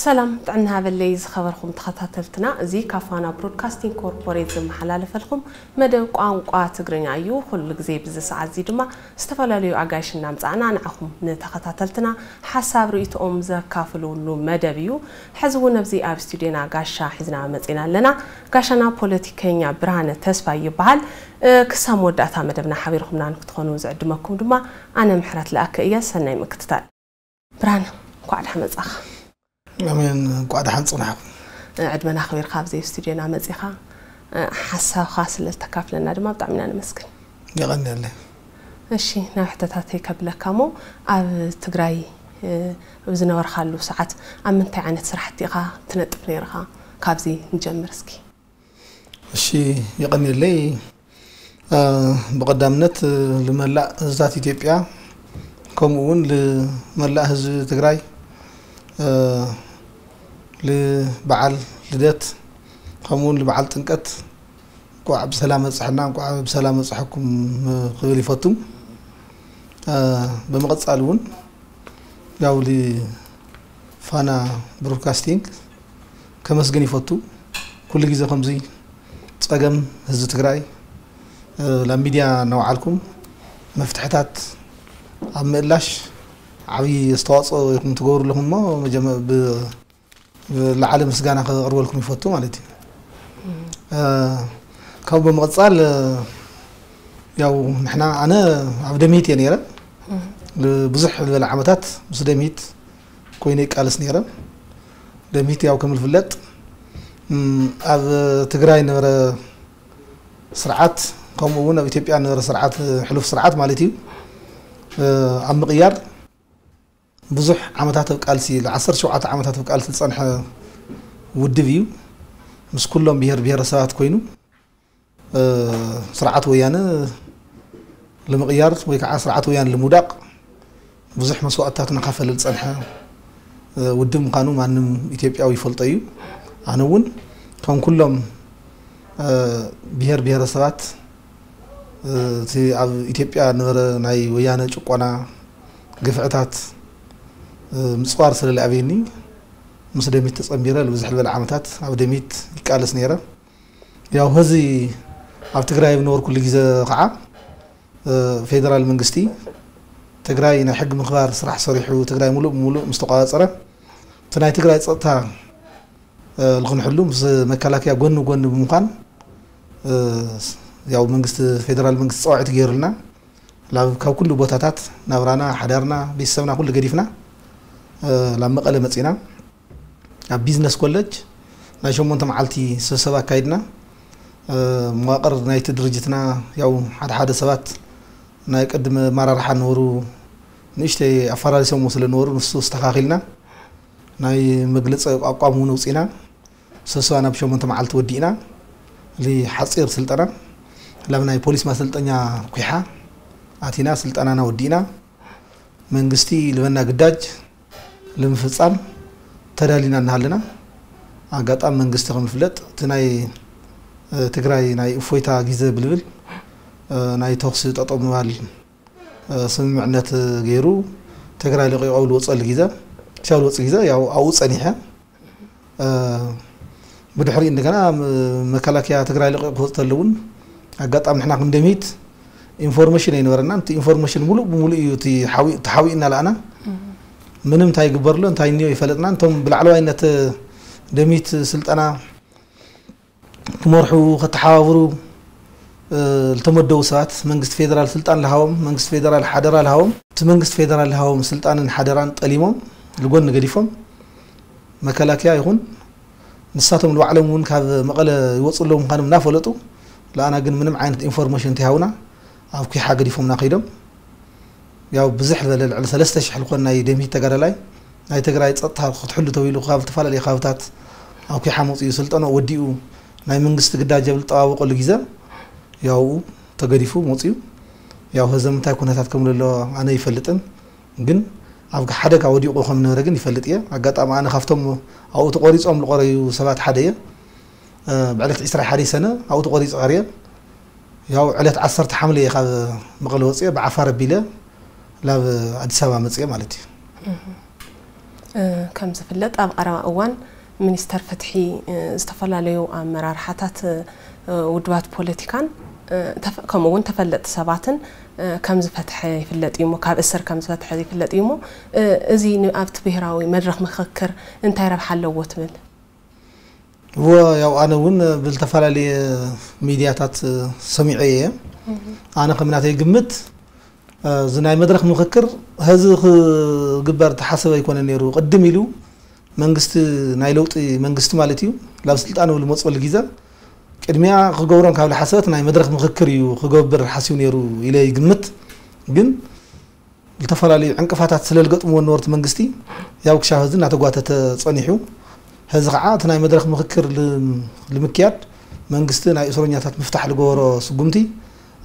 ሰላም ጥዕና ሃበለይ ዝኸበርኩም ተኸታተልትና፣ እዚ ካብ ፋና ብሮድካስቲንግ ኮርፖሬት ዝመሓላለፈልኩም መደብ ቋንቋ ትግርኛ እዩ። ኩሉ ግዜ ብዚ ሰዓት እዚ ድማ ዝተፈላለዩ ኣጋይሽ እናምጻእና ንዓኹም ንተኸታተልትና ሓሳብ ርእይቶኦም ዘካፍልሉ መደብ እዩ። ሕዚ እውን ኣብዚ ኣብ ስቱዲዮና ጋሻ ሒዝና መጺና ኣለና። ጋሻና ፖለቲከኛ ብርሃነ ተስፋይ ይበሃል። እ፣ ክሳብ መወዳእታ መደብና ሓቢርኩምና ንክትኾኑ ዝዕድመኩም ድማ ኣነ ምሕረት ለኣከ እየ። ሰናይ ምክትታል። ብርሃነ፣ እንኳዕ ደሓን መጻኻ። ኣሜን፣ እንኳዕ ደሓን ጽናሕኩም። እ፣ ዕድመና ኣኽቢርካ ኣብዚ ስቱዲዮና መጺኻ፣ እ፣ ሓሳብካ ስለ ዝተካፍለና ድማ ብጣዕሚ ኢና ነመስግን። የቐንየለይ። እሺ፣ ናብ ሕቶታተይ ከብለካ እሞ፣ ኣብ ትግራይ፣ እ፣ ኣብ ዝነበርካሉ ሰዓት ኣብ ምንታይ ዓይነት ስራሕቲ ኢኻ ትነጥፍ ነይርኻ? ካብዚ ንጀምር እስኪ። እሺ፣ የቐንየለይ። እ፣ ብቐዳምነት፣ እ፣ ልመላእ ህዝብታት ኢትዮጵያ፣ ከምኡ እውን ልመላእ ህዝቢ ትግራይ፣ እ፣ ልበዓል ልደት፣ ከምኡ እውን ልበዓል ጥምቀት እንኳዕ ብሰላም መጻሕና፣ እንኳዕ ብሰላም መጻሕኩም ክብል ይፈቱ። እ፣ ብምቕጻል እውን ያው ፋና ብሮድካስቲንግ ከመስግን ይፈቱ። ኩሉ ግዜ ከምዚ ጸገም ህዝቢ ትግራይ፣ እ፣ ናብ ሚድያ እናወዓልኩም መፍትሕታት ኣብ ምእላሽ ዓብዪ ኣስተዋጽኦ ኢኹም ትገብሩ ኣለኹም እሞ መጀመ-፣ ብ-፣ ብላዕሊ ምስጋና ከቕርበልኩም ይፈቱ ማለት እዩ። እ፣ ካብኡ ብምቕጻል፣ እ፣ ያው ንሕና፣ ኣነ ኣብ ደምሂት እየ ነይረ። ብዙሕ ዝበለ ዓመታት ምስ ደምሂት ኮይነ ይቃለስ ነይረ። ደምሂት ያው ከም ዝፍለጥ፣ እም፣ ኣብ ትግራይ ነበረ ስርዓት፣ ከምኡ እውን ኣብ ኢትዮጵያ ነበረ ስርዓት፣ ሕሉፍ ስርዓት ማለት እዩ፣ እ፣ ኣብ ምቕያር ብዙሕ ዓመታት ኣብ ቃልሲ፣ ለ-ዓሰርተ ሸውዓተ ዓመታት ኣብ ቃልሲ ዝጸንሐ ውድብ እዩ። ምስ ኩሎም ብሄር ብሄረሰባት ኮይኑ፣ እ፣ ስርዓት ወያነ ንምቕያር ወይ ከዓ ስርዓት ወያነ ልምውዳቕ ብዙሕ መስዋእትታት እናኸፈለ ዝጸንሐ፣ እ፣ ውድብ ምዃኑ ማንም ኢትዮጵያዊ ይፈልጦ እዩ። ኣነ እውን ከም ኩሎም፣ እ፣ ብሄር ብሄረሰባት፣ እ፣ እቲ ኣብ ኢትዮጵያ ነበረ ናይ ወያነ ጭቆና፣ ግፍዕታት፣ እ፣ ምጽዋር ስለ ዝኣበየኒ ምስ ደሚት ተጸንቢረ ንብዝሕ ዝበለ ዓመታት ኣብ ደሚት ይቃለስ ነይረ። ያው ህዚ ኣብ ትግራይ ኣብ ነበርኩሉ ግዜ ከዓ፣ እ፣ ፌደራል መንግስቲ ትግራይ ናይ ሕጊ ምኽባር ስራሕ ሰሪሑ ትግራይ ሙሉእ ብሙሉእ ምስ ተቋጻጸረ፣ እቲ ናይ ትግራይ ጸጥታ፣ እ፣ ልኽንሕሉ ምስ መከላከያ ጎኒ ጎኒ ብምዃን፣ እ፣ ያው መንግስቲ፣ ፌደራል መንግስቲ ጸዋዒት ገይሩልና፣ ላብ፣ ካብ ኩሉ ቦታታት ናብራና፣ ሓዳርና፣ ቤተሰብና ኩሉ ገዲፍና፣ እ፣ ላብ መቐለ መጺና። ኣብ ቢዝነስ ኮለጅ ናይ ሸሞንተ መዓልቲ ስብሰባ ኣካይድና። እ፣ መዋቕር ናይቲ ድርጅትና፣ ያው ሓደ ሓደ ሰባት ናይ ቅድሚ ኣመራርሓ ነበሩ፣ ንእሽተይ ኣፈራሪሶምዎ ስለ ነበሩ፣ ንሱ ኣስተኻኺልና ናይ መግለጺ ኣቋም እውን ኣውጺእና። ስብሰባ ናብ ሸሞንተ መዓልቲ ወዲእና። እዚ ሓጺር ስልጠና ላብ ናይ ፖሊስ ማሰልጠኛ ኩሓ ኣቲና ስልጠናና ወዲእና። መንግስቲ ልበና ግዳጅ ልምፍጻም ተዳሊና እናሃለና፣ ኣጋጣሚ መንግስቲ ከም ዝፍለጥ እቲ ናይ፣ እ፣ ትግራይ ናይ እፎይታ ግዜ ብልብል፣ እ፣ ናይ ተኹሲ ጠጠው ምባል፣ እ፣ ስምምዕነት ገይሩ ትግራይ ለቂቑ ኣብ ልወፀሉ ግዜ፣ ክሳብ ልወፅእ ግዜ ያው ኣብኡ ፀኒሐ። እ፣ ብድሕሪኡ እንደገና ም-፣ መከላከያ ትግራይ ለቂቑ ክወፅእ ተሎ እውን ኣጋጣሚ ንሕና ክንደሚት ኢንፎርሜሽን ኣይነበረናን። እቲ ኢንፎርሜሽን ሙሉእ ብሙሉእ እዩ እቲ ሓዊ-፣ ተሓዊእና ለኣና። ምንም እንታይ ይግበር ኣሎ እንታይ እኒኦ ይፈለጥናን። እቶም ብላዕለዋይነት ደሚት ስልጠና ክመርሑ፣ ከተሓባብሩ፣ እ፣ ዝተመደቡ ሰባት መንግስቲ ፌደራል ስልጣን ልሃቦም፣ መንግስቲ ፌደራል ሓደራ ልሃቦም። እቲ መንግስቲ ፌደራል ልሃቦም ስልጣንን ሓደራን ጠሊሞም፣ ልጎኒ ገዲፎም፣ መከላከያ ይኹን ንሳቶም ንባዕሎም እውን ካብ መቐለ ይወፁ ኣለዉ ምዃኖም እናፈለጡ፣ ለኣና ግን ምንም ዓይነት ኢንፎርሜሽን እንተይሃቡና ኣብ ኩሓ ገዲፎምና ከይዶም። ያው ብዝሕ ዝበለ ልዕሊ ሰለስተ ሽሕ ልኾን ናይ ደምሂት ተጋዳላይ ናይ ትግራይ ጸጥታ ክትሕሉ ተባሂሉ ካብ ዝተፈላለዩ ከባብታት ኣብ ኩሓ መጺኡ ስልጠና ወዲኡ ናይ መንግስቲ ግዳጅ ኣብ ዝጠባበቐሉ ግዜ ያው ተገዲፉ መጺኡ። ያው ህዝቢ እንታይ ኩነታት ከም ዘሎ ኣነ ይፈልጥን፣ ግን ኣብ ሓደጋ ወዲቑ ከም ነበረ ግን ይፈልጥ እየ። ኣጋጣሚ ኣነ ካብቶም ኣብኡ ተቆሪጾም ዝቆረዩ ሰባት ሓደ እየ። እ፣ ብዕለት ዕስራ ሓደ ሰነ ኣብኡ ተቆሪጹ ቀርየ። ያው ዕለት ዓሰርተ ሓምለ እየ ካብ መቐለ ወፅየ፣ ብዓፋር ኣቢለ ናብ ኣዲስ ኣበባ መፅየ ማለት እዩ። እ፣ ከም ዝፍለጥ ኣብ ቀረባ እዋን ሚኒስተር ፍትሒ፣ እ፣ ዝተፈላለዩ ኣመራርሓታት፣ እ፣ ውድባት ፖለቲካን፣ እ፣ ተፈ-፣ ከምኡ እውን ተፈለጥቲ ሰባትን፣ እ፣ ከም ዝፈትሐ ይፍለጥ እዩ እሞ፣ ካብ እስር ከም ዝፈትሐ ይፍለጥ እዩ እሞ፣ እ፣ እዚ ን-፣ ኣብቲ ብሄራዊ መድረኽ ምኽክር እንታይ ረብሓ ኣለዎ ትብል? እወ፣ ያው ኣነ እውን ብዝተፈላለየ ሚድያታት ሰሚዐ እየ። ኣነ ከም ናተይ ግምት፣ እዚ ናይ መድረኽ ምኽክር ሀዚ ክግበር ተሓሰበ ኣይኮነ ነይሩ። ቅድም ኢሉ መንግስቲ፣ ናይ ለውጢ መንግስቲ ማለት እዩ፣ ናብ ስልጣን ኣብ ዝመፅበሉ ግዜ ቅድሚያ ክገብሮም ካብ ዝሓሰበት ናይ መድረኽ ምኽክር እዩ ክገብር ሓሲቡ ነይሩ ኢለ ይግምት። ግን ዝተፈላለዩ ዕንቅፋታት ስለ ዝገጥምዎ ነበርቲ መንግስቲ፣ ያው ክሻብ ሀዚ እናተጓተተ ፀኒሑ። ሀዚ ከዓ እቲ ናይ መድረኽ ምኽክር ል-፣ ልምክያድ መንግስቲ ናይ እስረኛታት ምፍታሕ ዝገበሮ ስጉምቲ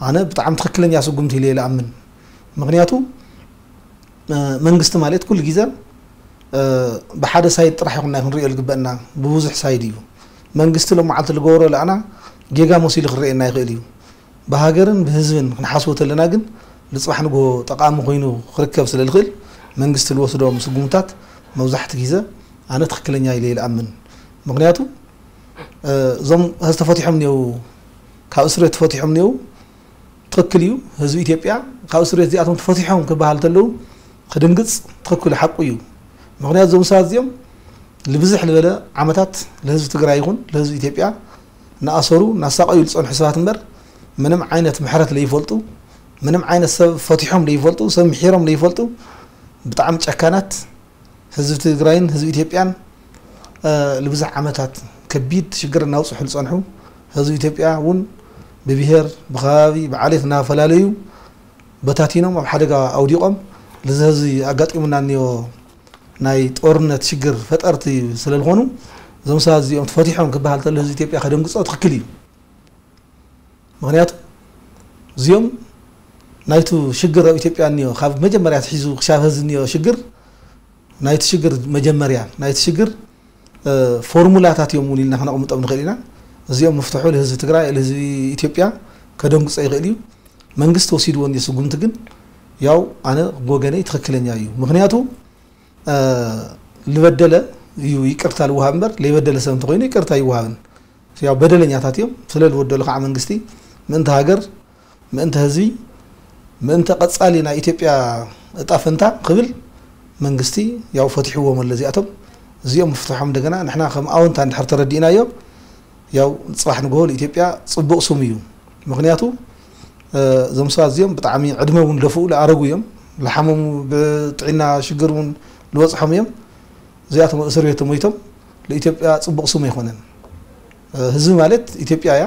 ኣነ ብጣዕሚ ትኽክለኛ ስጉምቲ ኢለ እየ ዝኣምን። ምኽንያቱ፣ እ፣ መንግስቲ ማለት ኩሉ ግዜ፣ እ፣ ብሓደ ሳይድ ጥራሕ ይኹን ናይ ክንሪኦ ዝግበአና፣ ብብዙሕ ሳይድ እዩ። መንግስቲ ሎመዓልቲ ዝገበሮ ለኣና ጌጋ መሲሉ ክረአየና ይኽእል እዩ። ብሃገርን ብህዝብን ክንሓስቦ ተለና ግን፣ ንፅባሕ ንግሆ ጠቓሚ ኮይኑ ክርከብ ስለ ዝኽእል፣ መንግስቲ ዝወስዶም ስጉምታት መብዛሕቲ ግዜ ኣነ ትኽክለኛ ኢለ እየ ዝኣምን። ምኽንያቱ፣ እ፣ እዞም ሀዚ ተፈቲሖም እኒአው፣ ካብ እስር ቤት ተፈቲሖም እኒአው፣ ትኽክል እዩ። ህዝቢ ኢትዮጵያ ካብ እስር ቤት እዚኣቶም ተፈቲሖም ክበሃል ተለዉ ክድንግፅ ትኽክል ሓቁ እዩ። ምኽንያቱ እዞም ሰባት እዚኦም ልብዝሕ ዝበለ ዓመታት ለህዝቢ ትግራይ ይኹን ለህዝቢ ኢትዮጵያ እናኣሰሩ እናሳቐዩ ዝፀንሑ ሰባት እምበር፣ ምንም ዓይነት ምሕረት ለይፈልጡ፣ ምንም ዓይነት ሰብ ፈቲሖም ለይፈልጡ፣ ሰብ ምሒሮም ለይፈልጡ፣ ብጣዕሚ ጨካናት፣ ህዝቢ ትግራይን ህዝቢ ኢትዮጵያን፣ እ፣ ንብዙሕ ዓመታት ከቢድ ሽግር እናውፅሑ ዝፀንሑ፣ ህዝቢ ኢትዮጵያ እውን ብብሄር፣ ብከባቢ፣ ብዓሌት እናፈላለዩ በታቲኖም ኣብ ሓደጋ ኣውዲቖም፣ እዚ ህዝቢ ኣጋጢሙና እኒኦ ናይ ጦርነት ሽግር ፈጠርቲ ስለ ዝኾኑ፣ እዞም ሰባት እዚኦም ተፈቲሖም ክበሃል ተሎ ህዝቢ ኢትዮጵያ ከደንግፆ ትኽክል እዩ። ምኽንያቱ እዚኦም ናይቲ ሽግር ኣብ ኢትዮጵያ እኒኦ፣ ካብ መጀመርያ ኣትሒዙ ክሻብ ሀዚ እኒኦ ሽግር፣ ናይቲ ሽግር መጀመርያ፣ ናይቲ ሽግር፣ እ፣ ፎርሙላታት እዮም እውን ኢልና ክነቕምጦም ንኽእል ኢና። እዚኦም ምፍትሑ ንህዝቢ ትግራይ፣ ንህዝቢ ኢትዮጵያ ከደንግጾ ይኽእል እዩ። መንግስቲ ወሲድዎ እንዲ ስጉምቲ ግን፣ ያው ኣነ ብወገነይ ትኽክለኛ እዩ። ምኽንያቱ፣ እ፣ ልበደለ እዩ ይቅርታ ልወሃብ እምበር፣ ለይበደለ ሰብ እንተኾይኑ ይቅርታ ይወሃብን። ያው በደለኛታት እዮም። ስለ ልበደሉ ከዓ መንግስቲ ምእንቲ ሃገር፣ ምእንቲ ህዝቢ፣ ምእንቲ ቀጻሊ ናይ ኢትዮጵያ እጣ ፈንታ ክብል መንግስቲ ያው ፈቲሕዎም ኣሎ። እዚኣቶም፣ እዚኦም ምፍትሖም እንደገና ንሕና ከም ኣወንታ እንድሕር ተረዲእናዮ፣ ያው ጽባሕ ንግሆ ንኢትዮጵያ ጽቡቕ ስም እዩ። ምኽንያቱ፣ እ፣ እዞም ሰባት እዚኦም ብጣዕሚ ዕድመ እውን ለፍኡ፣ ለኣረጉ እዮም። ለሓመሙ፣ ብጥዕና ሽግር እውን ልበጽሖም እዮም። እዚኣቶም ኣብ እስር ቤት ተሞይቶም፣ ለኢትዮጵያ ጽቡቕ ስም ኣይኮነን። እ፣ ህዝቢ ማለት ኢትዮጵያ እያ፣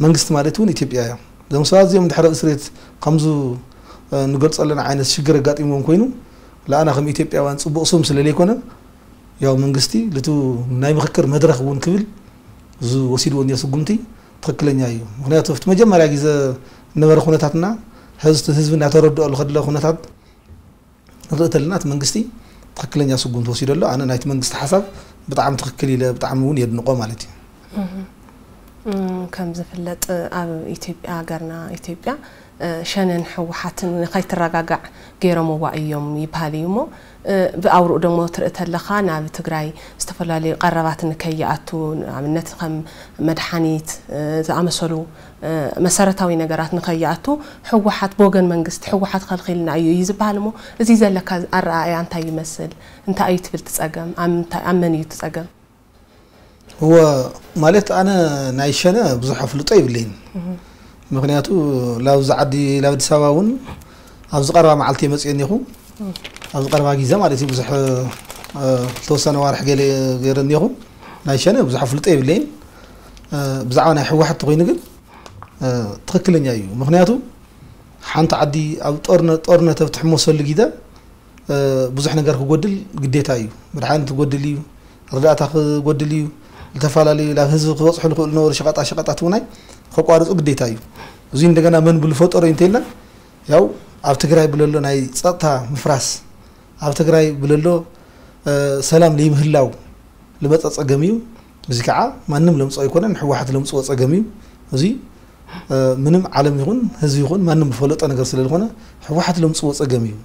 መንግስቲ ማለት እውን ኢትዮጵያ እያ። እዞም ሰባት እዚኦም እንድሕር ኣብ እስር ቤት ከምዙ፣ እ፣ ንገልጾ ኣለና ዓይነት ሽግር ኣጋጢምዎም ኮይኑ፣ ለኣና ከም ኢትዮጵያውያን ጽቡቕ ስም ስለ ለይኮነ፣ ያው መንግስቲ ልቱ ናይ ምኽክር መድረኽ እውን ክብል ዝወሲድዎ እንዮ ስጉምቲ ትኽክለኛ እዩ። ምኽንያቱ ኣብቲ መጀመርያ ግዜ ዝነበረ ኩነታትና፣ ህዝቢ፣ ህዝቢ እናተረድኦ ዝኸድለ ኩነታት ንርኢ ተለና፣ እቲ መንግስቲ ትኽክለኛ ስጉምቲ ወሲዱ ኣሎ። ኣነ ናይቲ መንግስቲ ሓሳብ ብጣዕሚ ትኽክል ኢለ፣ ብጣዕሚ እውን የድንቆ ማለት እዩ። እም፣ ከም ዝፍለጥ ኣብ ኢትዮጵያ፣ ሃገርና ኢትዮጵያ፣ እ፣ ሸነን ህወሓትን ንኸይትረጋጋዕ ገይሮምዋ እዮም ይበሃል እዩ እሞ፣ እ፣ ብኣውርኡ ደሞ ትርኢ ተለኻ ናብ ትግራይ ዝተፈላለዩ ቀረባት ንከይኣቱ፣ ንኣብነት ከም መድሓኒት፣ እ፣ ዝኣመሰሉ፣ እ፣ መሰረታዊ ነገራት ንኸይኣቱ ህወሓት ብወገን መንግስቲ ህወሓት ከልኺልና እዩ እዩ ዝበሃል እሞ፣ እዚ ዘለካ ኣረኣእያ እንታይ ይመስል? እንታይ እዩ ትብል እቲ ጸገም? ኣብ ምንታይ፣ ኣብ መን እዩ እቲ ጸገም? እወ፣ ማለት ኣነ ናይ ሸነ ብዙሕ ኣፍልጦ የብለይን። ምኽንያቱ ላብዚ ዓዲ፣ ላብ ኣዲስ ኣበባ እውን ኣብዚ ቀረባ መዓልቲ እየ መፅእ እኒኹ። ኣብዚ ቀረባ ግዜ ማለት እዩ፣ ብዙሕ፣ እ፣ ዝተወሰነ ዋርሕ ገለ ገይረ እኒኹ። ናይ ሸነ ብዙሕ ኣፍልጦ የብለይን። እ፣ ብዛዕባ ናይ ህወሓት ተኾይኑ ግን፣ እ፣ ትኽክለኛ እዩ። ምኽንያቱ ሓንቲ ዓዲ ኣብ ጦርነ-፣ ጦርነት ኣብ ትሕመሰሉ ግዜ፣ እ፣ ብዙሕ ነገር ክጎድል ግዴታ እዩ። መድሓኒት ክጎድል እዩ፣ ርዳእታ ክጎድል እዩ፣ ዝተፈላለዩ ናብ ህዝቢ ክበፅሑ ዝኽእሉ ነበሩ ሸቐጣ ሸቐጣት እውን ኣይ-፣ ከቋርፁ ግዴታ እዩ። እዚ እንደገና መን ብዝፈጠሮ እዩ እንተኢልና፣ ያው ኣብ ትግራይ ብለሎ ናይ ፀጥታ ምፍራስ፣ ኣብ ትግራይ ብለሎ፣ እ፣ ሰላም ዘይምህላው ዝመፀ ፀገም እዩ። እዚ ከዓ ማንም ለምፅኦ ኣይኮነን፣ ህወሓት ለምፅዎ ፀገም እዩ። እዚ፣ እ፣ ምንም ዓለም ይኹን ህዝቢ ይኹን ማንም ዝፈለጦ ነገር ስለ ዝኾነ ህወሓት ለምፅዎ ፀገም እዩ።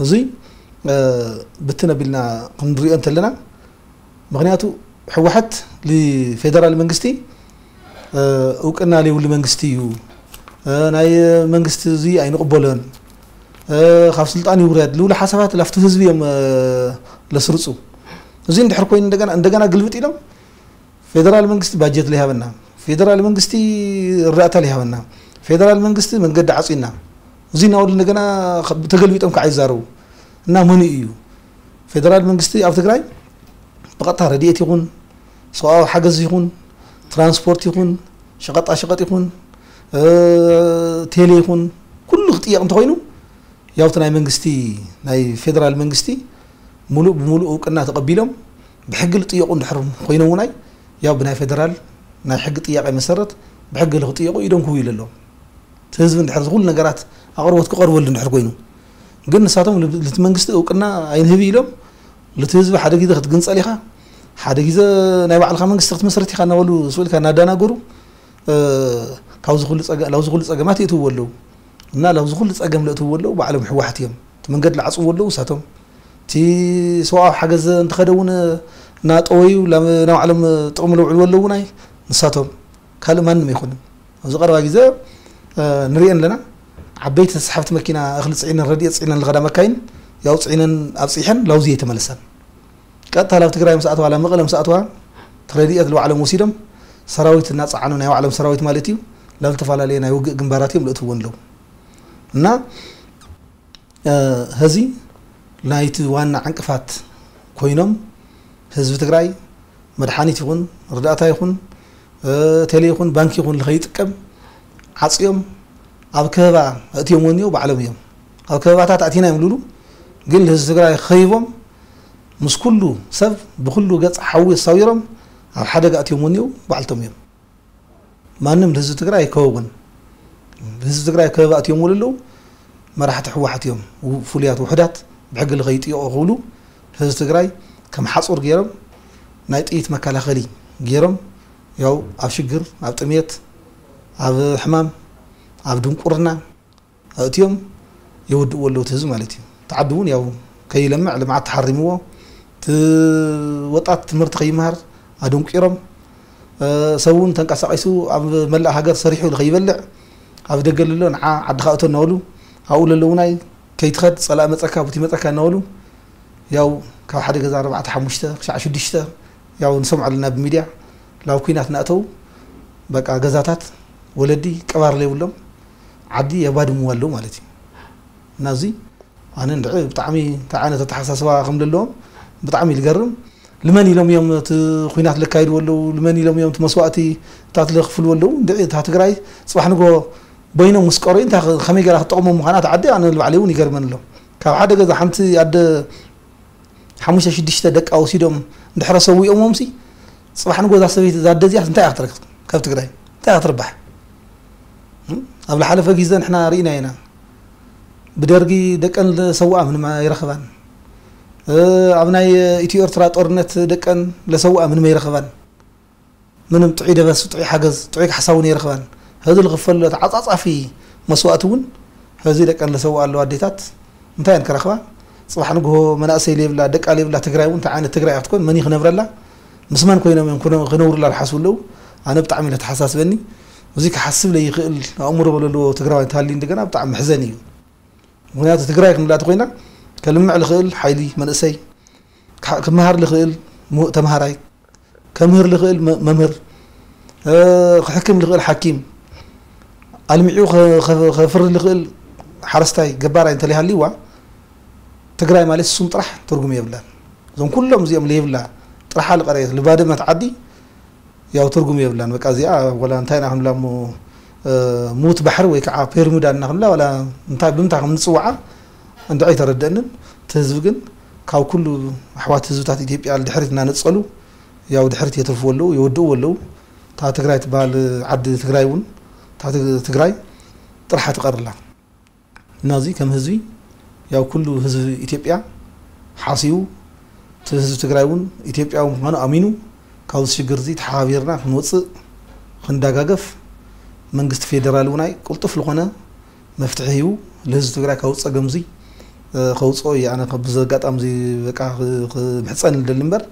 እዚ ብትን ኣቢልና ክንሪኦ እንተለና፣ ምክንያቱ ህወሓት ንፌደራል መንግስቲ እውቅና ዘይብሉ መንግስቲ እዩ፣ ናይ መንግስቲ እዚ ኣይንቕበሎን፣ ካብ ስልጣን ይውረድ ዝብሉ ሓሳባት ላፍቲ ህዝቢ እዮም ለስርፁ። እዚ እንድሕር ኮይኑ እንደገና እንደገና ግልብጥ ኢሎም ፌደራል መንግስቲ ባጀት ዘይሃበና፣ ፌደራል መንግስቲ እርዳእታ ዘይሃበና፣ ፌደራል መንግስቲ መንገዲ ዓፅዩና፣ እዚ እናበሉ እንደገና ተገልቢጦም ከዓ ይዛረቡ። እና መኑ እዩ ፌደራል መንግስቲ ኣብ ትግራይ ብቐጥታ ረድኤት ይኹን ሰብኣዊ ሓገዝ ይኹን ትራንስፖርት ይኹን ሸቐጣ ሸቐጥ ይኹን ቴሌ ይኹን ኩሉ ክጥየቕ እንተኾይኑ፣ ያው እቲ ናይ መንግስቲ ናይ ፌደራል መንግስቲ ሙሉእ ብሙሉእ እውቅና ተቐቢሎም ብሕጊ ዝጥየቑ እንድሕር ኮይኖም ውናይ፣ ያው ብናይ ፌደራል ናይ ሕጊ ጥያቄ መሰረት ብሕጊ ንክጥየቑ ኢዶም ክህቡ ኣለዎም። እቲ ህዝቢ እንድሕር ዝኹሉ ነገራት ኣቕርቦት ክቐርበሉ እንድሕር ኮይኑ፣ ግን ንሳቶም ልብ- ልቲ መንግስቲ እውቅና ኣይንህብ ኢሎም፣ ልቲ ህዝቢ ሓደ ግዜ ክትግንፀል ኢኻ፣ ሓደ ግዜ ናይ ባዕልኻ መንግስቲ ክትመስረት ኢኻ እናበሉ ስብልካ እናዳናገሩ ካብዚ ኩሉ ጸገ- ላብዚ ኩሉ ጸገማት የእትውዎ ኣለዉ። እና ላብዚ ኩሉ ጸገም ለእትውዎ ኣለዉ ባዕሎም ህወሓት እዮም። እቲ መንገዲ ለዓጽውዎ ኣለዉ ንሳቶም። እቲ ሰብኣዊ ሓገዝ እንተኸደ እውን እናጠወዩ ላብ- ናባዕሎም ጥቕሚ ለውዕልዎ ኣለዉ ናይ ንሳቶም። ካልእ ማንም ኣይኮነን። ኣብዚ ቀረባ ግዜ ንርእየን ኣለና። ዓበይቲ ተስሓብቲ መኪና እኽሊ ጽዒነን ረድኤት ጽዒነን ዝኸዳ መካይን ያው ጽዒነን ኣብጺሐን ላውዚ እየተመለሳን። ቀጥታ ላብ ትግራይ ምስ ኣተዋ ላብ መቐለ ምስ ኣተዋ ረድኤት ልባዕሎም ወሲዶም ሰራዊት እናጸዓኑ ናይ ባዕሎም ሰራዊት ማለት እዩ ላብ ዝተፈላለየ ናይ ውግእ ግንባራት እዮም ልእትውን ኣለዉ። እና ሀዚ ናይቲ ዋና ዕንቅፋት ኮይኖም ህዝቢ ትግራይ መድሓኒት ይኹን ርዳእታ ይኹን ቴሌ ይኹን ባንክ ይኹን ንኸይጥቀም ዓፅዮም ኣብ ከበባ ኣእትዮም ወኒዮ ባዕሎም እዮም። ኣብ ከበባታት ኣቲና እዮም ልብሉ፣ ግን ንህዝቢ ትግራይ ከይቦም ምስ ኩሉ ሰብ ብኩሉ ገፅ ሓዊ ኣሳዊሮም ኣብ ሓደጋ ኣእትዮም ወኒዮ ባዕልቶም እዮም። ማንም ንህዝቢ ትግራይ ኣይከበቡን። ህዝቢ ትግራይ ከበባ ኣእትዮም ኣለዉ። መራሕቲ ህወሓት እዮም ፍሉያት ውሕዳት ብሕጊ ከይጥየቑ ክብሉ ህዝቢ ትግራይ ከም ሓፁር ገይሮም ናይ ጥይት መከላኸሊ ገይሮም ያው ኣብ ሽግር ኣብ ጥሜት ኣብ ሕማም ኣብ ድንቁርና ኣእትዮም የወድእዎ ኣለዉ እቲ ህዝቢ ማለት እዩ። እቲ ዓዲ እውን ያው ከይለምዕ ልምዓት ተሓሪምዎ እቲ ወጣት ትምህርቲ ከይመሃር ኣደንቂሮም ሰብ እውን ተንቀሳቒሱ ኣብ መላእ ሃገር ሰሪሑ ከይበልዕ ኣብ ደገ ለሎ ንዓ ዓድኻ እቶ እናበሉ ኣብኡ ለለዉ ናይ ከይትኸድ ጸላእ መጸካ ቡቲ መጸካ እናበሉ ያው ካብ ሓደ ገዛ ኣርባዕተ ሓሙሽተ ክሻዕ ሽዱሽተ ያው ንሰምዖ ኣለና ብሚድያ ላብ ኩናት እናእተዉ በቃ ገዛታት ወለዲ ቀባር ለይብሎም ዓዲ የባድምዋ ኣለዉ ማለት እዩ። እና እዚ ኣነ እንድዒ ብጣዕሚ እንታይ ዓይነት ኣተሓሳስባ ከም ዘለዎም ብጣዕሚ እዩ ዝገርም። ልመን ኢሎም እዮም እቲ ኩናት ለካይድዎ ኣለዉ፣ ልመን ኢሎም እዮም እቲ መስዋእቲ እታት ለክፍልዎ ኣለዉ። እንድዒ እታ ትግራይ ፅባሕ ንጎ በይኖም ምስ ቀረዩ እንታይ ከመይ ገይራ ክትጠቕሞም ምዃና እቲ ዓዲ ኣነ ንባዕለይ እውን ይገርመን ኣሎ። ካብ ሓደ ገዛ ሓንቲ ኣደ ሓሙሽተ ሽዱሽተ ደቃ ወሲዶም እንድሕረ ሰዊኦሞምሲ ፅባሕ ንጎ እዛ ሰበይቲ እዛ ኣደ እዚኣ እንታይ እያ ክትረክብ ካብ ትግራይ እንታይ እያ ክትርባሕ? ኣብ ዝሓለፈ ግዜ ንሕና ርኢና ኢና። ብደርጊ ደቀን ዝሰውኣ ምንም ኣይረኸባን። ኣብ ናይ ኢትዮ ኤርትራ ጦርነት ደቀን ለሰውኣ ምንም ኣይረኸባን። ምንም ጥዑይ ደበስ፣ ጥዑይ ሓገዝ፣ ጥዑይ ካሕሳ እውን ኣይረኸባን። ህዚ ዝኽፈሎ ተዓጻጻፊ መስዋእቲ እውን ህዚ ደቀን ለሰውኣ ኣለዋ ኣዴታት እንታይ እየን ክረኽባ? ጽባሕ ንግሆ መናእሰይ ለይብላ፣ ደቃ ለይብላ ትግራይ እውን እንታይ ዓይነት ትግራይ እያ ክትኮን? መን እዩ ክነብረላ? ምስ መን ኮይኖም እዮም ክነ- ክነብሩላ ዝሓስቡ ኣለዉ? ኣነ ብጣዕሚ እዩ ለተሓሳስበኒ። እዚ ክሓስብ ለይኽእል ኣእምሮ ዘለዎ ትግራዋይ እንተሃልዩ እንደገና ብጣዕሚ መሕዘኒ እዩ። ምክንያቱ ትግራይ ክንብላ ተኮይና ከልምዕ ልኽእል ሓይሊ መንእሰይ፣ ክሓ- ክመሃር ልኽእል ሙ- ተምሃራይ፣ ከምህር ልኽእል መ- መምህር፣ እ፣ ክሕክም ልኽእል ሓኪም፣ ኣልሚዑ ከ- ከ- ከፍሪ ልኽእል ሓረስታይ ገባራይ እንተለይሃልይዋ ትግራይ ማለት ስም ጥራሕ ትርጉም የብላን። እዞም ኩሎም እዚኦም ለይብላ ጥራሓ ልቀረየት ልባደመት ዓዲ ያው ትርጉም የብላን። በቃ እዚኣ ወላ እንታይ ኢና ክንብላ እሞ፣ እ፣ ሙት ባሕሪ ወይ ከዓ ፔርሙዳ እና ክንብላ ወላ እንታይ ብምንታይ ከም ንፅውዓ እንድዒ ኣይተረደአንን። እቲ ህዝቢ ግን ካብ ኩሉ ኣሕዋት ህዝብታት ኢትዮጵያ ድሕሪት እናነፀሉ ያው ድሕሪት የትርፍዎ ኣለዉ፣ የወድእዎ ኣለዉ። እታ ትግራይ ትበሃል ዓዲ ትግራይ እውን እታ ትግ- ትግራይ ጥርሓ ትቐርላ። እና እዚ ከም ህዝቢ ያው ኩሉ ህዝቢ ኢትዮጵያ ሓሲቡ እቲ ህዝቢ ትግራይ እውን ኢትዮጵያዊ ምዃኑ ኣሚኑ ካብዚ ሽግር እዚ ተሓባቢርና ክንወፅእ ክንደጋገፍ መንግስቲ ፌደራል እውን ኣይ ቅልጡፍ ዝኾነ መፍትሒ ሂቡ ንህዝቢ ትግራይ ካብ ፀገም እዚ ከውፅኦ እዩ። ኣነ ብዚ ኣጋጣሚ እዚ በቃ ክምሕፀን ልደሊ እምበር፣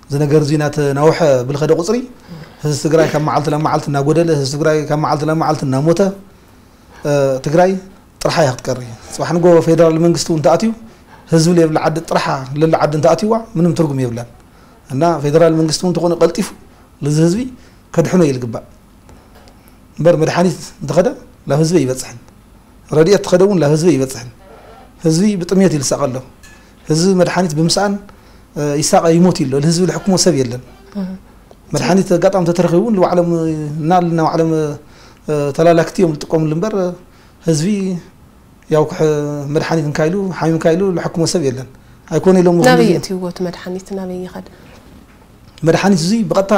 እዚ ነገር እዚ እናተናውሐ ብልኸደ ቁፅሪ ህዝቢ ትግራይ ካብ መዓልቲ ናብ መዓልቲ እናጎደለ፣ ህዝቢ ትግራይ ካብ መዓልቲ ናብ መዓልቲ እናሞተ፣ ትግራይ ጥርሓ እያ ክትቀሪ። ፅባሕ ንጎ ፌደራል መንግስቲ እውን ተኣትዩ ህዝቢ ለየብላ ዓዲ ጥርሓ ለላ ዓዲ እንተኣትዩዋ ምንም ትርጉም የብላን። እና ፌደራል መንግስቲ እውን እንተኾነ ቀልጢፉ ልዚ ህዝቢ ከድሕኖ እዩ ልግባእ። እምበር መድሓኒት እንተኸደ ላብ ህዝቢ ይበፅሕን፣ ረድኤት ተኸደ እውን ላብ ህዝቢ ይበፅሕን። ህዝቢ ብጥሜት ይልሳቐ ኣሎ። ህዝቢ መድሓኒት ብምስኣን ይሳቐ ይሞት ይሎ። ልህዝቢ ልሕክሞ ሰብ የለን። መድሓኒት ኣጋጣሚ ተተረኺቡ እውን ንባዕሎም እና ናባዕሎም ተላላክቲ እዮም ዝጥቀምሉ እምበር ህዝቢ ያው መድሓኒት እንካይሉ ሓሚም እንካይሉ ልሕክሞ ሰብ የለን። ኣይኮነ ኢሎም ናበይ እትይዎ እቲ መድሓኒት ናበይ ይኸድ? መድሓኒት እዚ ብቐጥታ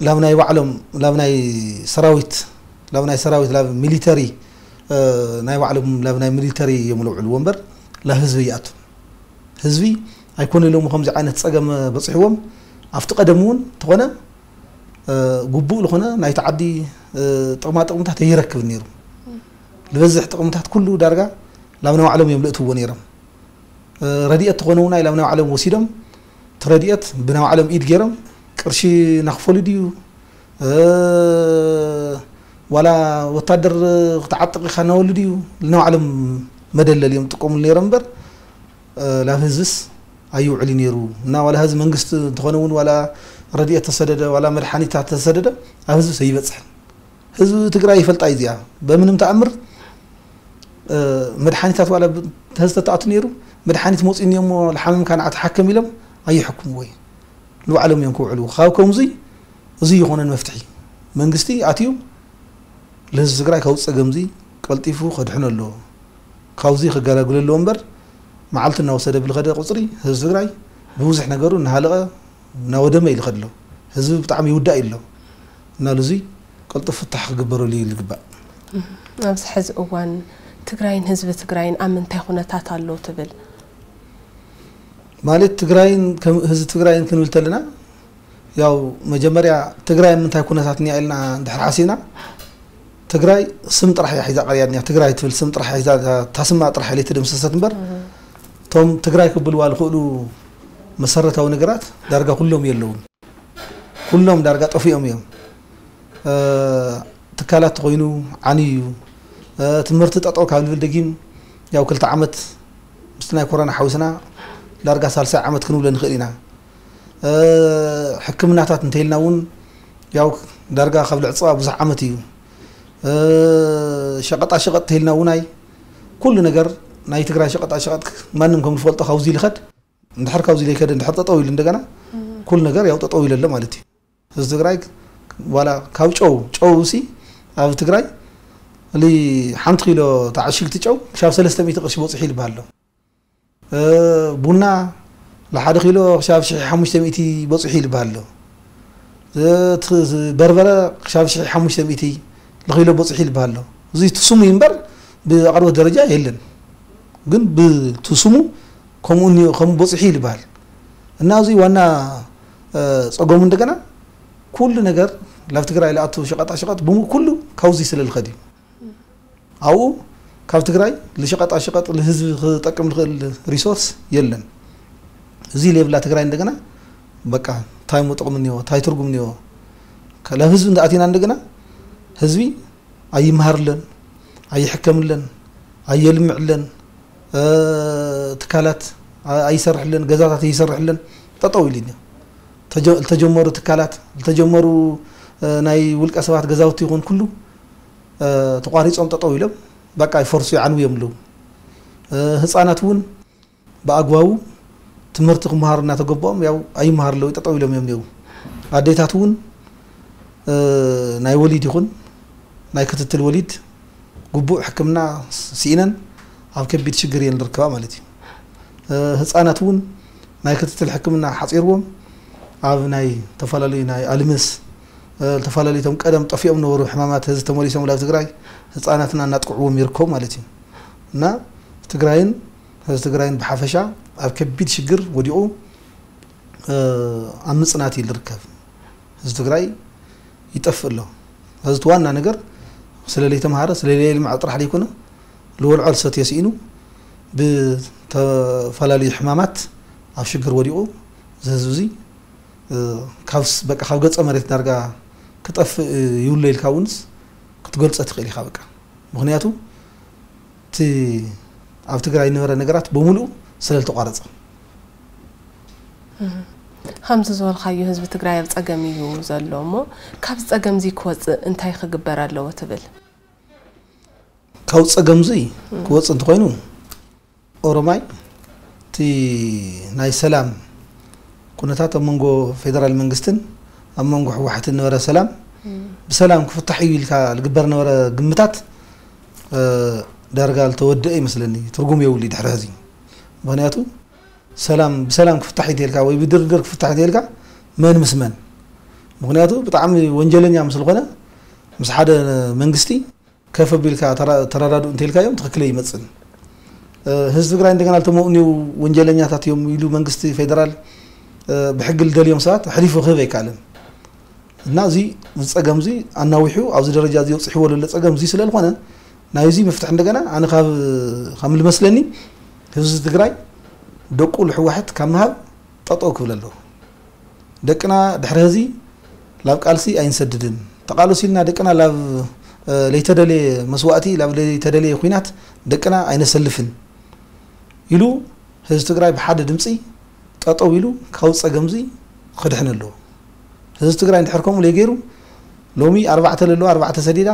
ላብ ናይ ባዕሎም ላብ ናይ ሰራዊት ላብ ናይ ሰራዊት ላብ ሚሊተሪ ናይ ባዕሎም ላብ ናይ ሚሊተሪ እዮም ልውዕልዎ እምበር ላብ ህዝቢ ይኣቱ። ህዝቢ ኣይኮነ ኢሎም ከምዚ ዓይነት ፀገም በፂሕዎም ኣብቲ ቀደም እውን ተኾነ ግቡእ ዝኾነ ናይቲ ዓዲ ጥቕማ ጥቕምታት ኣይረክብን ነይሩ። ዝበዝሕ ጥቕምታት ኩሉ ዳርጋ ላብ ናይ ባዕሎም እዮም ልእትዎ ነይሮም። ረድኤት ተኾነ እውን ላብ ናይ ባዕሎም ወሲዶም እቲ ረድኤት ብናይ ባዕሎም ኢድ ገይሮም ቅርሺ ናኽፈሉ ድዩ ዋላ ወታደር ክትዓጥቕ ኢኻ እናበሉ ድዩ ንባዕሎም መደለል እዮም ዝጥቀሙሉ ነይሮም እምበር ላብ ህዝብስ ኣይውዕል ነይሩ እና ዋላ ህዝቢ መንግስቲ እንተኾነ እውን ዋላ ረድኤት ተሰደደ ዋላ መድሓኒታት ተሰደደ ኣብ ህዝብስ ኣይበፅሕን። ህዝቢ ትግራይ ይፈልጣ እዩ እዚኣ በምንም ተኣምር መድሓኒታት ዋላ ተዝተተኣቱ ነይሩ መድሓኒት መፅኡ እሞ ልሓመምካ ንዓ ተሓከም ኢሎም ኣይሕክምዎ እዩ። ንባዕሎም እዮም ክውዕልዎ ካብ ከምዙይ እዚ ይኾነን መፍትሒ መንግስቲ ኣትዩ ልህዝቢ ትግራይ ካብ ፀገምዚ ቀልጢፉ ከድሕኖ ኣለዎ። ካብዚ ከገላግሎ ኣለዎ እምበር መዓልቲ እናወሰደ ብልኸደ ቁፅሪ ህዝቢ ትግራይ ብብዙሕ ነገሩ እናሃለቐ እናወደመ እዩ ልኸድ ኣሎ። ህዝቢ ብጣዕሚ ይውዳእ እዩ ኣሎ እና ልዙይ ቅልጡፍ ፍታሕ ክግበረሉ እዩ ልግባእ። ኣብዚ ሕዚ እዋን ትግራይን ህዝቢ ትግራይን ኣብ ምንታይ ኩነታት ኣሎ ትብል? ማለት ትግራይን ከም ህዝቢ ትግራይን ክንብል ተለና ያው መጀመርያ ትግራይ ኣብ ምንታይ ኩነታት እኒኣ ኢልና እንድሕር ሓሲብና ትግራይ ስም ጥራሕ እያ ሒዛ ቀርያ እኒኣ። ትግራይ ትብል ስም ጥራሕ እያ ሒዛ እታ ስማ ጥራሕ እያ ለይተደምሰሰት እምበር እቶም ትግራይ ክብልዋ ዝኽእሉ መሰረታዊ ነገራት ዳርጋ ኩሎም የለውን። ኩሎም ዳርጋ ጠፊኦም እዮም። ትካላት ተኾይኑ ዓንዩ እዩ። ትምህርቲ ጠጠው ካብ ልብል ደጊም ያው ክልተ ዓመት ምስቲ ናይ ኮሮና ሓዊስና ዳርጋ ሳልሳይ ዓመት ክንብሎ ንኽእል ኢና። ሕክምናታት እንተይልና እውን ያው ዳርጋ ካብ ልዕፅዋ ብዙሕ ዓመት እዩ። ሸቐጣ ሸቐጥ እንተይልና እውን ኣይ ኩሉ ነገር ናይ ትግራይ ሸቐጣ ሸቐጥ ማንም ከም ዝፈልጦ ካብዚ ልኸድ እንድሕር ካብዚ ለይከደ እንድሕር ጠጠው ኢሉ እንደገና ኩሉ ነገር ያው ጠጠው ኢሉ ኣሎ ማለት እዩ። ህዝቢ ትግራይ ዋላ ካብ ጨው ጨው ሲ ኣብ ትግራይ ሊ ሓንቲ ኪሎ ተዓሽግቲ ጨው ክሻብ ሰለስተ ሚእቲ ቅርሺ በፂሑ ይልበሃል ኣሎ። ቡና ንሓደ ኪሎ ክሻብ ሽሕ ሓሙሽተ ሚእቲ በፂሑ ይልበሃል ኣሎ። በርበረ ክሻብ ሽሕ ሓሙሽተ ሚእቲ ንኪሎ በፂሑ ይልበሃል ኣሎ። እዚ ትስሙ እምበር ብኣቅርቦት ደረጃ የለን። ግን ብትስሙ ከምኡ እኒኦ ከምኡ በፂሑ ይልበሃል። እና እዚ ዋና ፀገሙ እንደገና ኩሉ ነገር ናብ ትግራይ ዝኣቱ ሸቐጣ ሸቐጥ ብሙሉ ኩሉ ካብዚ ስለልኸድ እዩ። ኣብኡ ካብ ትግራይ ልሸቐጣ ሸቐጥ ልህዝቢ ክጠቅም ልኽእል ሪሶርስ የለን። እዚ ለየብላ ትግራይ እንደገና በቃ እንታይ እሞ ጥቕሚ እኒኦ እንታይ ትርጉም እኒኦ? ካብ ህዝቢ እንዳኣቲና እንደገና ህዝቢ ኣይመሃርለን፣ ኣይሕከምለን፣ ኣየልምዕለን፣ ትካላት ኣይሰርሕለን፣ ገዛታት ኣይሰርሕለን፣ ጠጠው ኢሉ እኒኦ። ዝተጀመሩ ትካላት ዝተጀመሩ ናይ ውልቀ ሰባት ገዛውቲ ይኹን ኩሉ ተቋሪፆም ጠጠው ኢሎም በቃ ይፈርሱ ይዓንው እዮም ኣለዉ። ህፃናት እውን ብኣግባቡ ትምህርቲ ክመሃሩ እናተገበኦም ያው ኣይመሃሩ ኣለዉ ጠጠው ኢሎም እዮም እኒው። ኣዴታት እውን ናይ ወሊድ ይኹን ናይ ክትትል ወሊድ ግቡእ ሕክምና ስኢነን ኣብ ከቢድ ሽግር እየን ዝርከባ ማለት እዩ። ህፃናት እውን ናይ ክትትል ሕክምና ሓፂርዎም ኣብ ናይ ዝተፈላለዩ ናይ ኣልምስ ዝተፈላለዩ ቶም ቀደም ጠፊኦም ነበሩ ሕማማት ህዝቢ ተመሊሶም ናብ ትግራይ ህፃናትና እናጥቅዕዎም ይርከቡ ማለት እዩ። እና ትግራይን ህዝቢ ትግራይን ብሓፈሻ ኣብ ከቢድ ሽግር ወዲቑ ኣብ ምፅናት እዩ ዝርከብ። ህዝቢ ትግራይ ይጠፍእ ኣሎ። እዚ ዋና ነገር ስለ ለይተምሃረ ስለ ለይልምዐ ጥራሕ ዘይኮነ ልወልዖ ልሰትዮ ስኢኑ ብተፈላለዩ ሕማማት ኣብ ሽግር ወዲቑ፣ እዚ ህዝቢ እዚ፣ እ፣ ካብ ስ-፣ በቃ ካብ ገጸ መሬት ዳርጋ ክጠፍእ ይውሎ ኢልካ እውንስ ክትገልጾ ትኽእል ኢኻ በቃ። ምኽንያቱ እቲ ኣብ ትግራይ ዝነበረ ነገራት በሙሉኡ ስለ ዝተቋረጸ። እህ። ከምዚ ዝበልካዮ ህዝቢ ትግራይ ኣብ ጸገም እዩ ዘሎ እሞ፣ ካብዚ ጸገም እዚ ክወጽእ እንታይ ክግበር ኣለዎ ትብል? ካብ ጸገም እዚ ክወጽእ እንተኾይኑ፣ ኦሮማይ እቲ ናይ ሰላም ኩነታት ኣብ መንጎ ፌደራል መንግስትን ኣብ መንጎ ህወሓትን ነበረ ሰላም እም። ብሰላም ክፍታሕ እዩ ኢልካ ዝግበር ነበረ ግምታት፣ እ፣ ዳርጋ ዝተወደአ ይመስለኒ። ትርጉም የብሉ ድሕሪ ሕዚ። ምኽንያቱ ሰላም፣ ብሰላም ክፍታሕ እዩ ተልካ ወይ ብድርድር ክፍታሕ እዩ ተልካ መን ምስ መን? ምኽንያቱ ብጣዕሚ ወንጀለኛ ምስ ዝኾነ ምስ ሓደ መንግስቲ ከፍ ኣቢልካ ተራ-፣ ተረዳድኡ እንተልካዮም ትኽክል ኣይመጽእን። እ፣ ህዝቢ ትግራይ እንደገና ልተመቕንዩ ወንጀለኛታት እዮም ኢሉ መንግስቲ ፌደራል፣ እ፣ ብሕጊ ልደልዮም ሰባት ሕሊፉ ክህብ ኣይከኣልን። እና እዚ፣ እዚ ጸገም እዚ ኣናዊሑ ኣብዚ ደረጃ እዚ ኣብጽሕዎ ዘሎ ጸገም እዚ ስለ ዝኾነ ናይዚ መፍትሒ እንደገና ኣነ ካብ፣ ከም ልመስለኒ ህዝቢ ትግራይ ደቁ ልሕወሓት ካብ ምሃብ ጠጠው ክብል ኣለዎ። ደቅና ድሕሪ ሕዚ ላብ ቃልሲ ኣይንሰድድን። ተቓለሱ ኢልና ደቅና ላብ፣ እ፣ ለይተደለየ መስዋእቲ፣ ላብ ለይተደለየ ኹናት ደቅና ኣይነሰልፍን ኢሉ ህዝቢ ትግራይ ብሓደ ድምፂ ጠጠው ኢሉ ካብ ጸገም እዚ ክድሕን ኣለዎ። ህዝቢ ትግራይ እንድሕር ከምኡ ለይገይሩ ሎሚ ኣርባዕተ ለለዋ ኣርባዕተ ሰዲዳ፣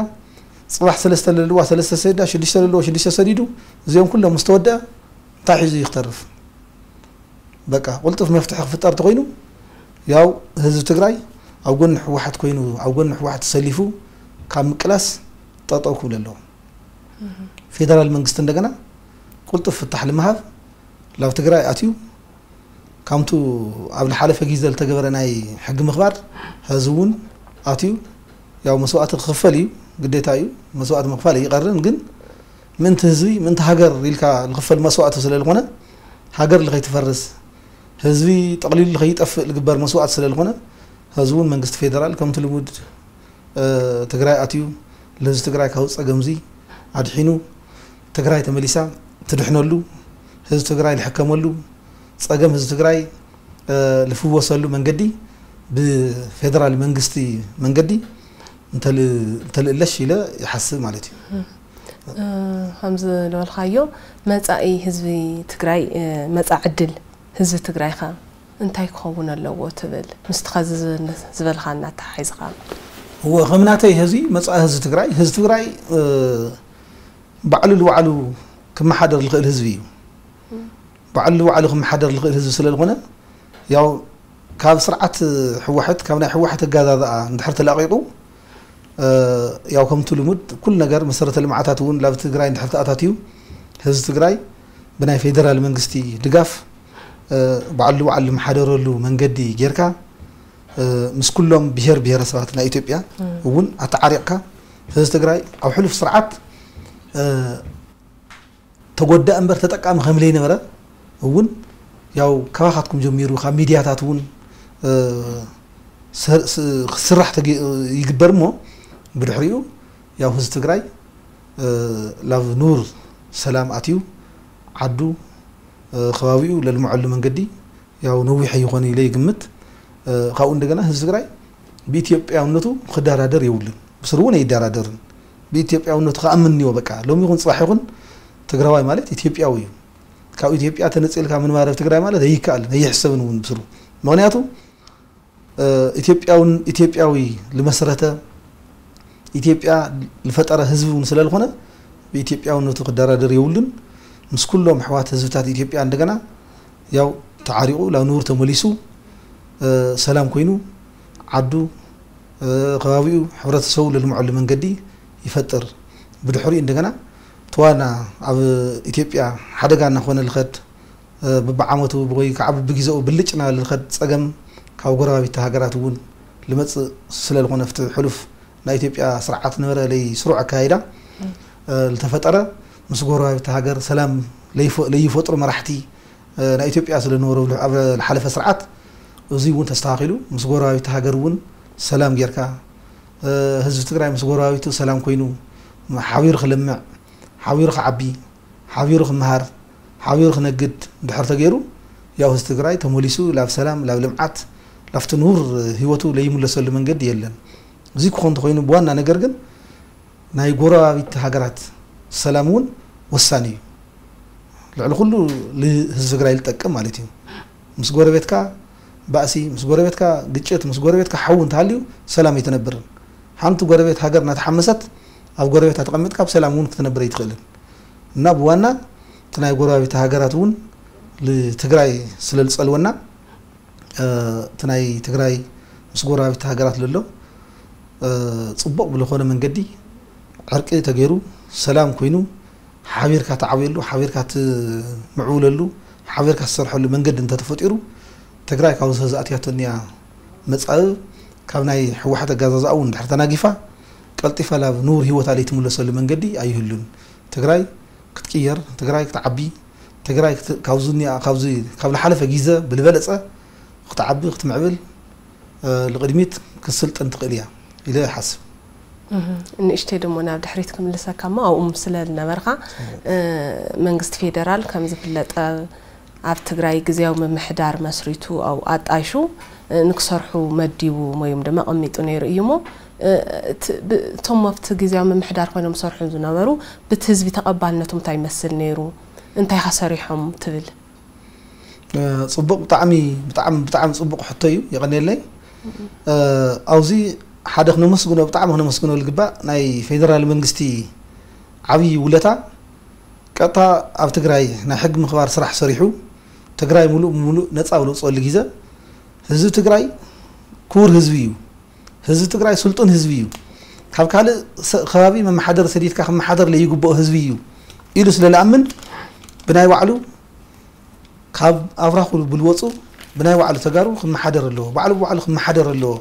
ጽባሕ ሰለስተ ለለዋ ሰለስተ ሰዲዳ፣ ሽዱሽተ ለለዎ ሽዱሽተ ሰዲዱ፣ እዚኦም ኩሎም ምስ ተወደአ እንታይ ሒዙ እዩ ክተርፍ? በቃ ቁልጡፍ መፍትሒ ክፍጠር ተኮይኑ ያው ህዝቢ ትግራይ ኣብ ጎኒ ህወሓት ኮይኑ ኣብ ጎኒ ህወሓት ተሰሊፉ ካብ ምቅላስ ጠጠው ክብል ኣለዎ። ፌደራል መንግስቲ እንደገና ቁልጡፍ ፍታሕ ንምሃብ ላብ ትግራይ ኣትዩ ካምቱ ኣብ ዝሓለፈ ግዜ ዝተገበረ ናይ ሕጊ ምኽባር ህዝቢ እውን ኣትዩ ያው መስዋእቲ ክኽፈል እዩ፣ ግዴታ እዩ። መስዋእቲ ምኽፋል ኣይቀርን፣ ግን ምእንቲ ህዝቢ ምእንቲ ሃገር ኢልካ ዝኽፈል መስዋእቲ ስለ ዝኾነ ሃገር ልኸይትፈርስ ህዝቢ ጠቕሊሉ ልኸይጠፍእ ልግበር መስዋእቲ ስለ ዝኾነ ህዝቢ እውን መንግስቲ ፌደራል ከምቲ ልሙድ እ፣ ትግራይ ኣትዩ፣ ለህዝቢ ትግራይ ካብ ጸገምዚ ኣድሒኑ፣ ትግራይ ተመሊሳ ትድሕነሉ፣ ህዝቢ ትግራይ ልሕከመሉ፣ ጸገም ህዝቢ ትግራይ፣ እ፣ ልፍወሰሉ መንገዲ ብፌደራል መንግስቲ መንገዲ እንተል-፣ እንተልእለሽ ኢለ ይሓስብ ማለት እዩ። እ፣ ከምዚ ዝበልካዮ መጻኢ ህዝቢ ትግራይ፣ እ፣ መጻኢ ዕድል ህዝቢ ትግራይ ከ እንታይ ክኸውን ኣለዎ ትብል? ምስቲ ኸዚ ዝበ-፣ ዝበልኻና ኣተሓሒዝካ። እወ፣ ከም ናተይ ህዚ መጻኢ ህዝቢ ትግራይ፣ ህዝቢ ትግራይ፣ እ፣ ባዕሉ ንባዕሉ ክመሓደር ዝኽእል ህዝቢ እዩ። ባዕሉ ንባዕሉ ክመሓደር ዝኽእል ህዝቢ ስለ ዝኾነ፣ ያው ካብ ስርዓት ህወሓት፣ ካብ ናይ ህወሓት ኣገዛዝኣ እንድሕር ተላቒቑ፣ እ፣ ያው ከምቲ ልሙድ ኩሉ ነገር መሰረተ ልምዓታት እውን ላብ ትግራይ እንድሕር ተኣታትዩ፣ ህዝቢ ትግራይ ብናይ ፌደራል መንግስቲ ድጋፍ፣ እ፣ ባዕሉ ንባዕሉ ዝመሓደረሉ መንገዲ ጌርካ፣ እ፣ ምስ ኩሎም ብሄር ብሄረሰባት ናይ ኢትዮጵያ እም። እውን ኣተዓሪቕካ፣ ህዝቢ ትግራይ ኣብ ሕሉፍ ስርዓት፣ እ፣ ተጎዳእ እምበር ተጠቃሚ ከም ዘይነበረ እውን ያው ካባኻትኩም ጀሚሩ ካብ ሚድያታት እውን፣ እ፣ ሰ-፣ ስ-፣ ክስራሕ ተገ-፣ ይግበር እሞ ብድሕሪኡ ያው ህዝቢ ትግራይ፣ እ፣ ላብ ኑር ሰላም ኣትዩ ዓዱ፣ እ፣ ከባቢኡ ለልምዐሉ መንገዲ ያው ነዊሕ ኣይኾን ኢለ ይግምት። እ፣ ካብኡ እንደገና ህዝቢ ትግራይ ብኢትዮጵያውነቱ ክደራደር የብሉን። ብስሩ እውን ኣይደራደርን። ብኢትዮጵያውነቱ ክኣምን እኒዎ በቃ። ሎሚ ይኹን ጽባሕ ይኹን ትግራዋይ ማለት ኢትዮጵያዊ እዩ። ካብ ኢትዮጵያ ተነጺልካ ምንባር ኣብ ትግራይ ማለት ኣይከኣልን፣ ኣይሕሰብን እውን ብስሩ። ምኽንያቱ፣ እ፣ ኢትዮጵያውን-፣ ኢትዮጵያዊ ልመስረተ፣ ኢትዮጵያ ልፈጠረ ህዝቢ እውን ስለ ዝኾነ ብኢትዮጵያውነቱ ክደራደር የብሉን። ምስ ኩሎም ኣሕዋት ህዝብታት ኢትዮጵያ እንደገና ያው ተዓሪቑ ላብ ንቡር ተመሊሱ፣ እ፣ ሰላም ኮይኑ ዓዱ፣ እ፣ ከባቢኡ፣ ሕብረተሰቡ ለልምዐሉ መንገዲ ይፈጥር። ብድሕሪኡ እንደገና እቲ ዋና ኣብ ኢትዮጵያ ሓደጋ እናኾነ ልኸድ፣ እ፣ ብብዓመቱ ወይ ከዓ ብብግዜኡ ብልጭ እናበለ ልኸድ ጸገም ካብ ጎረባቢቲ ሃገራት እውን ልመጽእ ስለ ዝኾነ፣ ኣብቲ ሕሉፍ ናይ ኢትዮጵያ ስርዓት ነበረ ለይ ስሩዕ ኣካይዳ፣ እ፣ ልተፈጠረ ምስ ጎረባቢቲ ሃገር ሰላም ለይፈ-፣ ለይፈጥሩ መራሕቲ፣ እ፣ ናይ ኢትዮጵያ ስለ ነበሩ ኣብ ዝሓለፈ ስርዓት፣ እዚ እውን ተስተኻኺሉ ምስ ጎረባቢቲ ሃገር እውን ሰላም ጌርካ፣ እ፣ ህዝቢ ትግራይ ምስ ጎረባቢቱ ሰላም ኮይኑ ሓቢሩ ክለምዕ፣ ሓቢሩ ክዓቢ፣ ሓቢሩ ክመሃር፣ ዓብዩ ክነግድ ድሕር ተገይሩ፣ ያው ህዝቢ ትግራይ ተመሊሱ ላብ ሰላም፣ ላብ ልምዓት፣ ላብቲ ንቡር ህይወቱ ለይምለሰሉ መንገዲ የለን። እዚ ክኾን እንተኾይኑ፣ ብዋና ነገር ግን ናይ ጎረባቢት ሃገራት ሰላም እውን ወሳኒ እዩ። ልዕሊ ኩሉ ንህዝቢ ትግራይ ዝጠቅም ማለት እዩ። ምስ ጎረቤትካ ባእሲ፣ ምስ ጎረቤትካ ግጭት፣ ምስ ጎረቤትካ ሓዊ እንተሃልዩ ሰላም ኣይትነብርን። ሓንቲ ጎረቤት ሃገር እናተሓመሰት ኣብ ጎረቤታ ተቐሚጥካ ብሰላም እውን ክትነብር ኣይትኽእልን። እና ብዋና እቲ ናይ ጎረባቢት ሃገራት እውን ንትግራይ ስለ ዝጸልወና፣ እ፣ እቲ ናይ ትግራይ ምስ ጎረባቢት ሃገራት ዘሎ፣ እ፣ ጽቡቕ ብዝኾነ መንገዲ ዕርቂ ተገይሩ፣ ሰላም ኮይኑ፣ ሓቢርካ ትዓብየሉ፣ ሓቢርካ ትምዕብለሉ፣ ሓቢርካ ትሰርሐሉ መንገዲ እንተተፈጢሩ፣ ትግራይ ካብ ዝኸዚ ኣትያቶ እኒኣ መጻኢ ካብ ናይ ህወሓት ኣጋዛዝኣ እውን ድሕር ተናጊፋ፣ ቀልጢፋ ናብ ንቡር ህይወታ ለይትምለሰሉ መንገዲ ኣይህሉን። ትግራይ ክትቅየር፣ ትግራይ ክትዓቢ፣ ትግራይ ክት-፣ ካብዚ እኒኣ፣ ካብዚ፣ ካብ ዝሓለፈ ግዜ ብዝበለጸ ክትዓቢ፣ ክትምዕብል፣ እ፣ ንቕድሚት ክትስልጥን ትኽእል እያ ኢለ ይሓስብ። እህ፣ ንእሽተይ ደሞ ናብ ድሕሪት ክምልሰካ እሞ፣ ኣብኡ ስለ ዝነበርካ፣ እ፣ መንግስቲ ፌደራል ከም ዝፍለጠ ኣብ ትግራይ ግዝያዊ ምምሕዳር መስሪቱ፣ ኣብኡ ኣጣይሹ፣ እ፣ ንክሰርሑ መዲቡ ወይ ድማ ኣቐሚጡ ነይሩ እዩ እሞ፣ እ፣ እቲ፣ ብ-፣ እቶም ኣብቲ ግዝያዊ ምምሕዳር ኮይኖም ዝሰርሑ ዝነበሩ፣ ብቲ ህዝቢ ተቐባልነቶም እንታይ ይመስል ነይሩ? እንታይ ከ ሰሪሖም ትብል? እ፣ ጽቡቕ፣ ብጣዕሚ፣ ብጣዕሚ፣ ብጣዕሚ ጽቡቕ ሕቶ እዩ። የቐንየለይ። እ፣ ኣብዚ ሓደ ክነመስግኖ፣ ብጣዕሚ ክነመስግኖ ዝግባእ ናይ ፌደራል መንግስቲ ዓብዪ ውለታ፣ ቀጥታ ኣብ ትግራይ ናይ ሕጊ ምኽባር ስራሕ ሰሪሑ፣ ትግራይ ሙሉእ ብሙሉእ ነጻ ኣብ ዘውፅአሉ ግዜ፣ ህዝቢ ትግራይ ክቡር ህዝቢ እዩ። ህዝቢ ትግራይ ስልጡን ህዝቢ እዩ። ካብ ካልእ ሰ-፣ ከባቢ መመሓደር ሰዲድካ ክመሓደር ለይግብኦ ህዝቢ እዩ ኢሉ ስለ ዝኣምን፣ ብናይ ባዕሉ ካብ ኣብራኹ ብልወፁ ብናይ ባዕሉ ተጋሩ ክመሓደር ኣለዎ። ባዕሉ ብባዕሉ ክመሓደር ኣለዎ።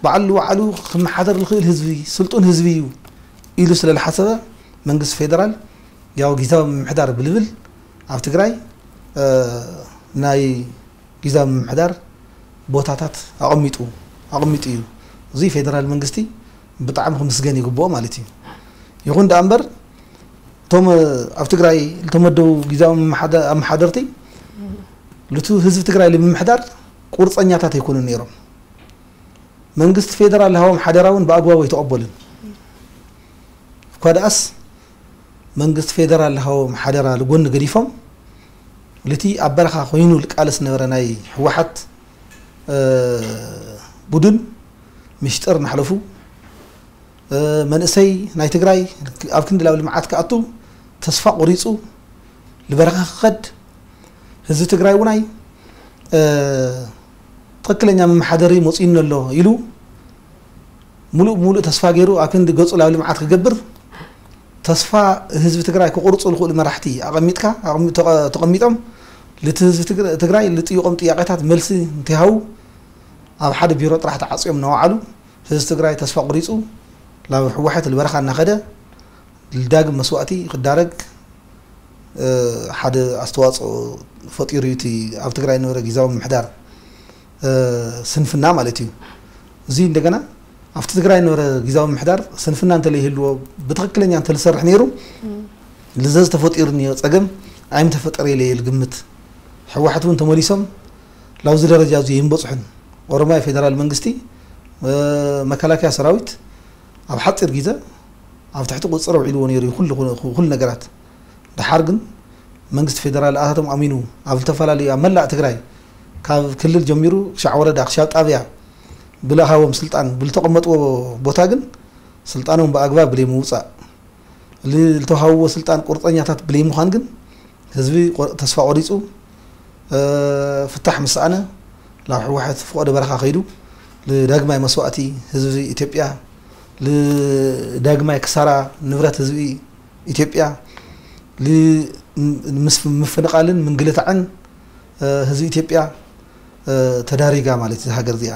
ባዕሉ ባዕሉ ክመሓደር ዝኽእል ህዝቢ፣ ስልጡን ህዝቢ እዩ ኢሉ ስለ ዝሓሰበ፣ መንግስቲ ፌደራል ያው ግዝያዊ ምምሕዳር ብልብል ኣብ ትግራይ፣ እ፣ ናይ ግዝያዊ ምምሕዳር ቦታታት ኣቐሚጡ፣ ኣቐሚጡ እዩ። እዚ ፌደራል መንግስቲ ብጣዕሚ ክምስገን ይግብኦ ማለት እዩ። ይኹን ደኣ እምበር፣ እቶም ኣብ ትግራይ ዝተመደቡ ግዝያዊ መሓደ-፣ ኣመሓደርቲ፣ ልቱ ህዝቢ ትግራይ ንምምሕዳር ቁርፀኛታት ኣይኮኑን ነይሮም። መንግስቲ ፌደራል ዝሃቦም ሓደራ እውን ብኣግባቡ ኣይተቐበሉን። እኳ ደኣስ መንግስቲ ፌደራል ዝሃቦም ሓደራ ልጎኒ ገዲፎም፣ ልቲ ኣብ በረኻ ኮይኑ ልቃለስ ነበረ ናይ ህወሓት፣ እ፣ ቡድን፣ ምሽጥር እናሕለፉ፣ እ፣ መንእሰይ ናይ ትግራይ ኣብ ክንዲ ላብ ልምዓት ክኣቱ ተስፋ ቆሪፁ ልበረኻ ክኸድ፣ ህዝቢ ትግራይ እውናይ፣ እ፣ ትኽክለኛ መመሓደሪ መፂኡኒ ኣሎ ኢሉ ሙሉእ ብሙሉእ ተስፋ ገይሩ ኣብ ክንዲ ገፁ ላብ ልምዓት ክገብር ተስፋ ህዝቢ ትግራይ ክቑርፁ ዝኽእሉ መራሕቲ ኣቐሚጥካ፣ ኣቐሚ-፣ ተቐ-፣ ተቐሚጦም ልቲ ህዝቢ ትግረ-፣ ትግራይ ልጥይቖም ጥያቄታት መልሲ እንተይሃቡ ኣብ ሓደ ቢሮ ጥራሕ ተዓፅዮም እናወዓሉ ህዝቢ ትግራይ ተስፋ ቆሪፁ ላብ ህወሓት ልበረኻ እናኸደ ልዳግም መስዋእቲ ክዳረግ፣ እ፣ ሓደ ኣስተዋፅኦ ፈጢሩ እዩ እቲ ኣብ ትግራይ ዝነበረ ግዝያዊ ምምሕዳር፣ እ፣ ስንፍና ማለት እዩ። እዚ እንደገና ኣብቲ ትግራይ ዝነበረ ግዝያዊ ምምሕዳር ስንፍና እንተለይህልዎ ብትኽክለኛ እንተዝሰርሕ ነይሩ፣ እም። ልዘዝ ተፈጢሩ እኒኦ ፀገም ኣይምተፈጠረ ኢለ እየ ዝግምት። ህወሓት እውን ተመሊሶም ላብዚ ደረጃ እዚ ይንበፅሑን። ኦሮሚያ ፌደራል መንግስቲ፣ እ፣ መከላከያ ሰራዊት ኣብ ሓፂር ግዜ ኣብ ትሕቲ ቁፅፅር ኣውዒልዎ ነይሩ እዩ ኩሉ፣ ኩሉ፣ ኩሉ ነገራት። ደሓር ግን መንግስቲ ፌደራል ኣታቶም ኣሚኑ ኣብ ዝተፈላለዩ፣ ኣብ መላእ ትግራይ ካብ ክልል ጀሚሩ ክሻዕ ወረዳ፣ ክሻብ ጣብያ ብልሃቦም ስልጣን ብልተቐመጥዎ ቦታ ግን ስልጣኖም ብኣግባብ ብለይ ምውፃእ፣ ል-፣ ልተዋሃብዎ ስልጣን ቁርፀኛታት ብለይ ምዃን ግን ህዝቢ ቆ-፣ ተስፋ ቆሪፁ፣ እ፣ ፍታሕ ምስ ሰኣነ ናብ ህወሓት ፍቆዶ በረኻ ከይዱ ልዳግማይ መስዋእቲ ህዝቢ ኢትዮጵያ፣ ልዳግማይ ክሳራ ንብረት ህዝቢ ኢትዮጵያ፣ ል-፣ ምስ ምፍንቓልን ምንግልታዕን፣ እ፣ ህዝቢ ኢትዮጵያ፣ እ፣ ተዳሪጋ ማለት እዛ ሃገር እዚኣ።